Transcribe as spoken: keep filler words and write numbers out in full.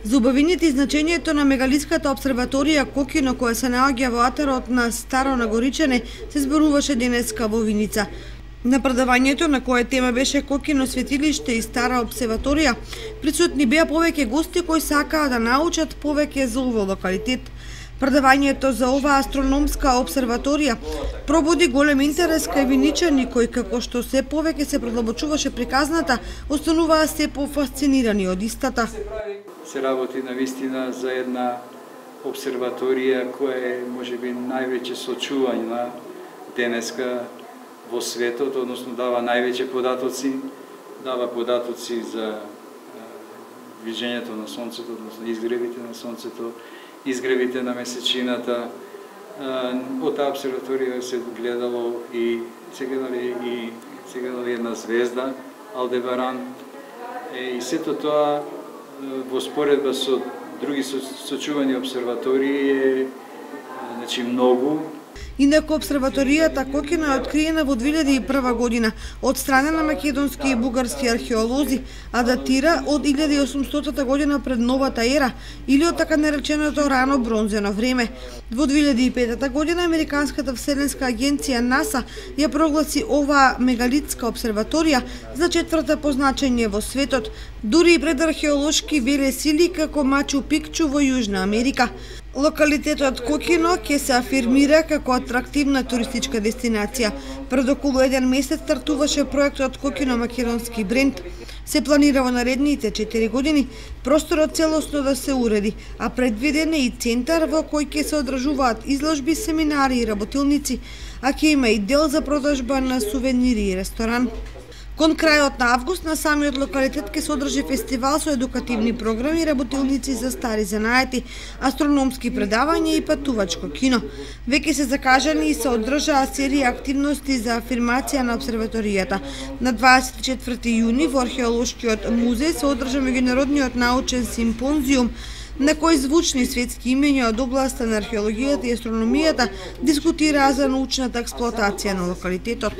За убавините и значењето на мегалитската обсерваторија Кокино, која се наоѓа во атарот на Старо Нагоричане, се зборуваше денеска во Виница. На предавањето, на кое тема беше Кокино светилиште и Стара обсерваторија, присутни беа повеќе гости кои сакаа да научат повеќе за овој локалитет. Предавањето за оваа астрономска обсерваторија пробуди голем интерес кај виничани кои, како што се повеќе се продлабочуваше приказната, остануваа се пофасцинирани од истата. Се работи на вистина за една обсерваторија која е можеби највеќе сочувања денеска во светот, односно дава највеќе податоци, дава податоци за вижењето на сонцето, односно изгревите на сонцето, изгревите на месечината. Од таа обсерваторија се гледало и се гледали и се гледали една звезда, Алдебаран, и сето тоа во споредба со други сочувани обсерватории е значи многу. Инаку обсерваторијата Кокино е откриена во две илјади и прва година од страна на македонски и бугарски археолози, а датира од илјада и осумстотата година пред новата ера или од така нареченото рано бронзено време. Во две илјади и петата година Американската вселенска агенција НАСА ја прогласи оваа мегалитска обсерваторија за четврта по значење во светот, дури и пред археолошки велесили како Мачу Пикчу во Јужна Америка. Локалитетот Кокино ќе се афирмира како атрактивна туристичка дестинација. Пред околу еден месец стартуваше проектот Кокино македонски бренд. Се планира во наредните четири години просторот целосно да се уреди, а предвиден е и центар во кој ќе се одржуваат изложби, семинари и работилници, а ќе има и дел за продажба на сувенири и ресторан. Кон крајот на август на самиот локалитет ќе се одржи фестивал со едукативни програми, работилници за стари занаети, астрономски предавања и патувачко кино. Веќе се закажани и се одржаа серија активности за афирмација на обсерваторијата. На дваесет и четврти јуни во археолошкиот музеј се одржа меѓународниот научен симпозиум на кој звучни светски имења од областа на археологијата и астрономијата дискутираа за научната експлоатација на локалитетот.